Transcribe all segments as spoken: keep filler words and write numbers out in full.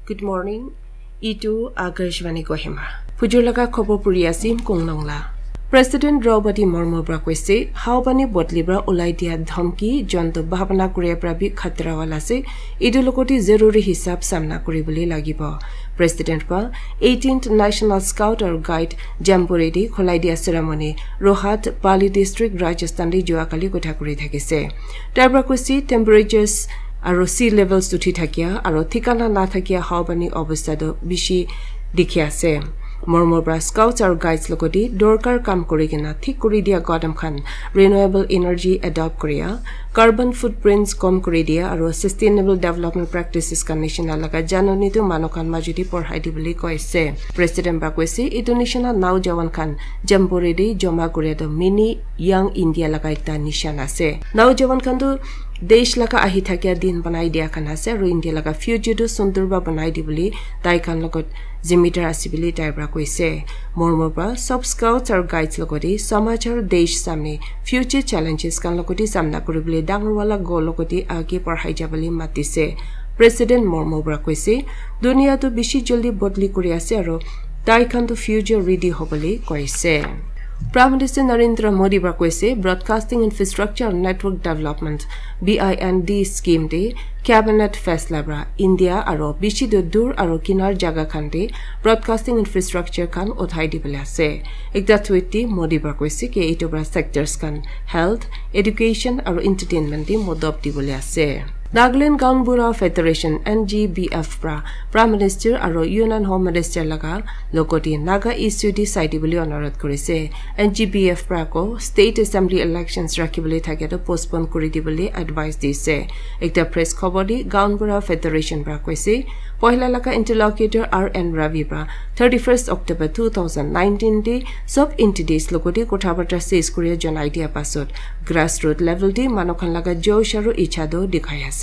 Good morning. Itu Akashvani Kohima. Phujur laga khobor puri asim konglong la. President Draupadi Murmu pra koise, haubani botli pra ulai dia dhamki jonto bhabana kuria pra bi khatra wala ase. Itu logoti zaruri hisab samna kuribole lagibo. President pra eighteenth National Scout or Guide Jamboree de khulai dia ceremony Rohat, Pali District, Rajasthan de jua kali kotha kuri thakise. Tar pra koise temperatures aro sea levels uthi thakia aro thikana na thakia haubani obostha do bishi dikhi ase. Murmu pra scouts aro guides logoti dorkar kam kuri kena thik kuri dia gadam khan renewable energy adopt kuria, carbon footprints kom kuri dia aro sustainable development practices khan nishina laga janoni tu manu khan majudi porhai di bole koise. President pra koise itu nishina naujawan khan Jamboree de joma kuria tu mini young India laga ekta nishan ase. Naujawan khan tu desh laga ahi thakia din banai dia khan ase aro India laga future tu sundur ba banai di bole tai khan logot zimidar ase bole tai pra koise. Murmu pra sob scouts aro guides logoti samaj aro desh samne future challenges khan logoti samna kuribole dangor wala goal logoti age porhai jabole matise. President Murmu pra koise, dunia tu bishi jaldi bodli kuri ase aro tai khan tu future ready hobole koise. Prime Minister Narendra Modi pra koise, Broadcasting Infrastructure and Network Development, B I N D scheme de cabinet faisla pra India aro bishi du dur aro kinar jaga khan de broadcasting infrastructure khan uthai dibole ase. Ekta tweet de Modi pra koise ki etu pra sectors khan health, education aro entertainment de modop dibole ase. Nagaland Gaonbura Federation, N G B F pra Prime Minister aro Union Home Minister laga logoti Naga issue de sai dibole onurodh kurise. N G B F pra ko State Assembly elections rakhibole thakia tu postpone kuri dibole advice dise. Ekta press khobor de Gaonbura Federation pra koise, poila laga interlocutor R N Ravi pra thirty-first October two thousand nineteen de sob entities logoti kotha barta ses kuria janai dia pasot grassroot level de manu khan laga josh aro icha do dikhai ase.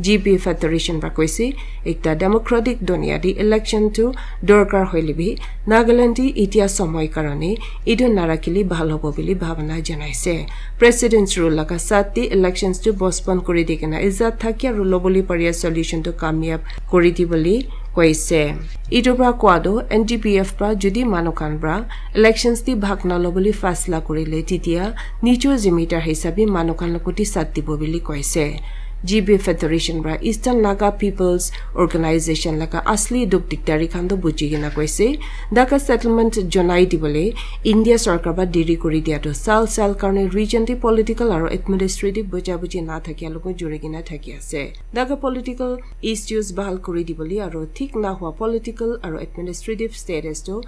G B Federation pra koise, ekta democratic dunia de election tu dorkar hoile bi Nagaland de itia somoi karone etu narakile bhal hobo bole bhabana janaise. President's rule laga sat de elections tu postpone kuri di kena ijat thakia aro lobole paria solution tu kamyab kuri dibole koise. Etu pra koa tu N G B F pra jodi manu khan pra elections de bhag nalobole faisla kurile titia nijor zimidar hisabe manu khan logoti sat dibo bole koise. G B Federation pra Eastern Naga People's Organization laga asli dukh dikdari khan tu buji kena koise. Naga settlement janai dibole India sarkar pra deri kuri dia tu sal sal karone region de political aro administrative buja buji na thakia logot juri kena thaki ase. Naga political issues bhal kuri dibole aro thik na hua political aro administrative status tu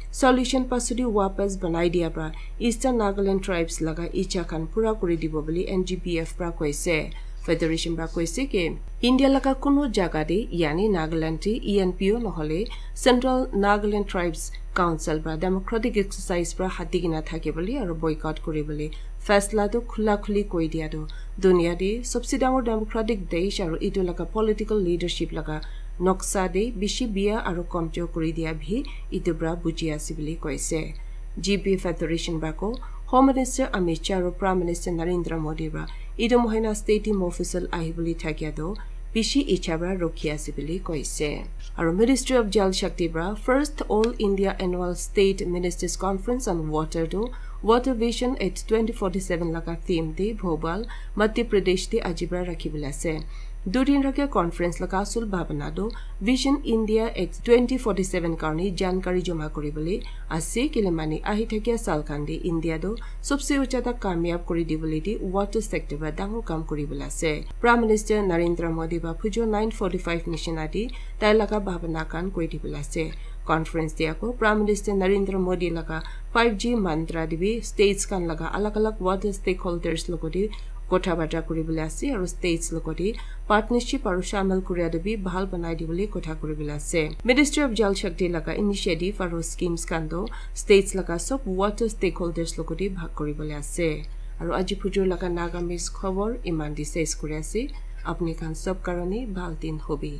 solution pasudi wapas banai dia pra Eastern Nagaland tribes laga icha khan pura kuri dibo bole N G B F pra koise. Federation pra koise ki India laga kuno jaga de, yani Nagaland de E N P O nohole Central Nagaland Tribes Council pra democratic exercise pra hati kena thakibole aro boycott kuribole faisla tu khula khuli koi dia tu dunia de sobse dangor democratic desh aro etu laga political leadership laga noksa de bishi bia aro komjor kuri dia bhi etu pra buji ase bole koise. G B Federation pra ko Home Minister Amit Shah aro Prime Minister Narendra Modi pra etu mohina state de mofusal ahibole thakia tu bishi icha pra rokhi ase bole koise. Aro Ministry of Jal Shakti pra first All India Annual State Ministers Conference on Water tu Water Vision at twenty forty-seven laga theme de Bhopal, Madhya Pradesh de aji pra rakhibole ase. Dudin rakia conference laga asul bhabana tu Vision India at twenty forty-seven karone jankari joma kuribole ase, kile mane ahi thakia sal khan de India tu sobse ujada kamyab kuri dibole de water sector pra dangor kam kuribole ase. Prime Minister Narendra Modi pra phujor nine forty-five nishina de tai laga bhabana khan koi dibole ase. Conference de ako Prime Minister Narendra Modi laga five G mantra de bi states khan laga alag alag water stakeholders logoti kotha bata kuribole ase aro states logoti partnership aro shamil kuria tu bi bhal banai dibole kotha kuribole ase. Ministry of Jal Shakti laga initiative aro schemes khan tu states laga sob water stakeholders logoti bhag kuribole ase. Aro aji phujur laga Nagamese khobor iman de ses kuri ase. Apni khan sob karone bhal din hobi.